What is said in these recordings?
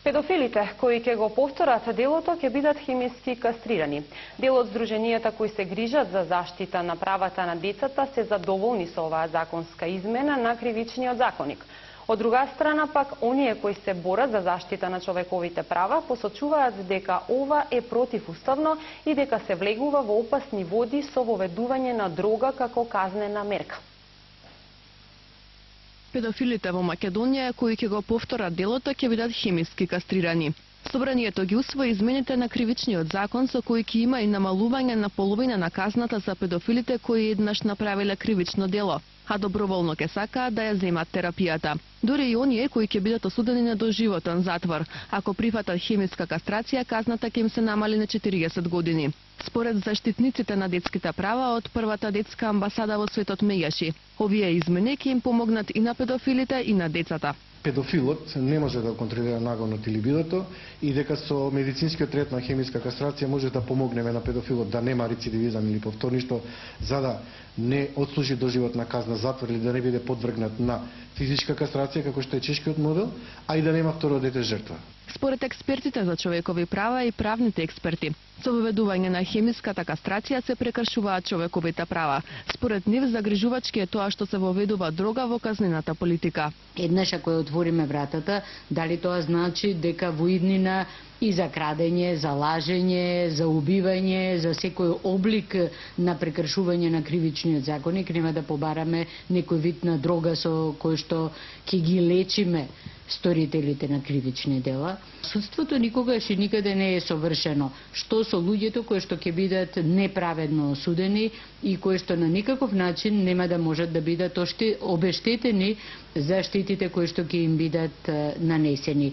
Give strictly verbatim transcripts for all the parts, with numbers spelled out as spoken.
Педофилите кои ќе го повторат делото ќе бидат хемиски кастрирани. Дел од здруженијата кои се грижат за заштита на правата на децата се задоволни со оваа законска измена на кривичниот законник. Од друга страна пак, оние кои се борат за заштита на човековите права посочуваат дека ова е противуставно и дека се влегува во опасни води со воведување на дрога како казнена мерка. Педофилите во Македонија кои ќе го повторат делото ќе бидат хемиски кастрирани. Собранието ги усвои измените на кривичниот закон со кои ќе има и намалување на половина на казната за педофилите кои еднаш направиле кривично дело, а доброволно ќе сакаат да ја земат терапијата. Дури и оние кои ќе бидат осудени на доживотен затвор, ако прифатат хемиска кастрација, казната ќе им се намали на четириесет години. Според заштитниците на детските права од првата детска амбасада во светот Мејаши, овие измени ќе им помогнат и на педофилите и на децата. Педофилот не може да контролира нагонот или либидото и дека со медицинскиот третман хемиска кастрација може да помогнеме на педофилот да нема рецидивизам или повторништво, за да не отслужи доживотна казна затвор или да не биде подвргнат на физичка кастрација како што е чешкиот модел, а и да нема второ дете жртва. Според експертите за човекови права и правните експерти, со воведување на хемиската кастрација се прекршуваат човековите права. Според нив загрижувачки е тоа што се воведува дрога во казнената политика. Еднаш ако ја отвориме вратата, дали тоа значи дека во иднина и за крадење, за лажење, за убивање, за секој облик на прекршување на кривичниот законник, нема да побараме некој вид на дрога со кој што ќе ги лечиме сторителите на кривични дела. Судството никогаш и никаде не е совршено. Што со луѓето кои што ќе бидат неправедно осудени и кои што на никаков начин нема да можат да бидат обештетени за штетите кои што ќе им бидат нанесени.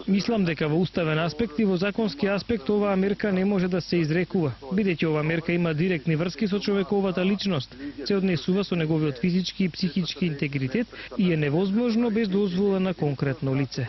Мислам дека во уставен аспект и во законски аспект оваа мерка не може да се изрекува, бидејќи оваа мерка има директни врски со човековата личност, се однесува со неговиот физички и психички интегритет и е невозможно без дозвола на конкретно лице.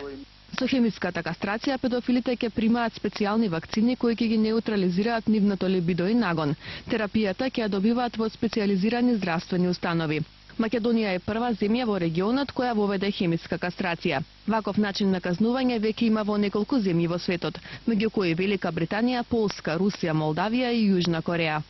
Со хемиската кастрација педофилите ќе примаат специјални вакцини кои ќе ги неутрализираат нивното либидо и нагон. Терапијата ќе ја добиваат во специјализирани здравствени установи. Македонија е прва земја во регионот која воведе хемиска кастрација. Ваков начин на казнување веќе има во неколку земји во светот, меѓу кои Велика Британија, Полска, Русија, Молдавија и Јужна Кореја.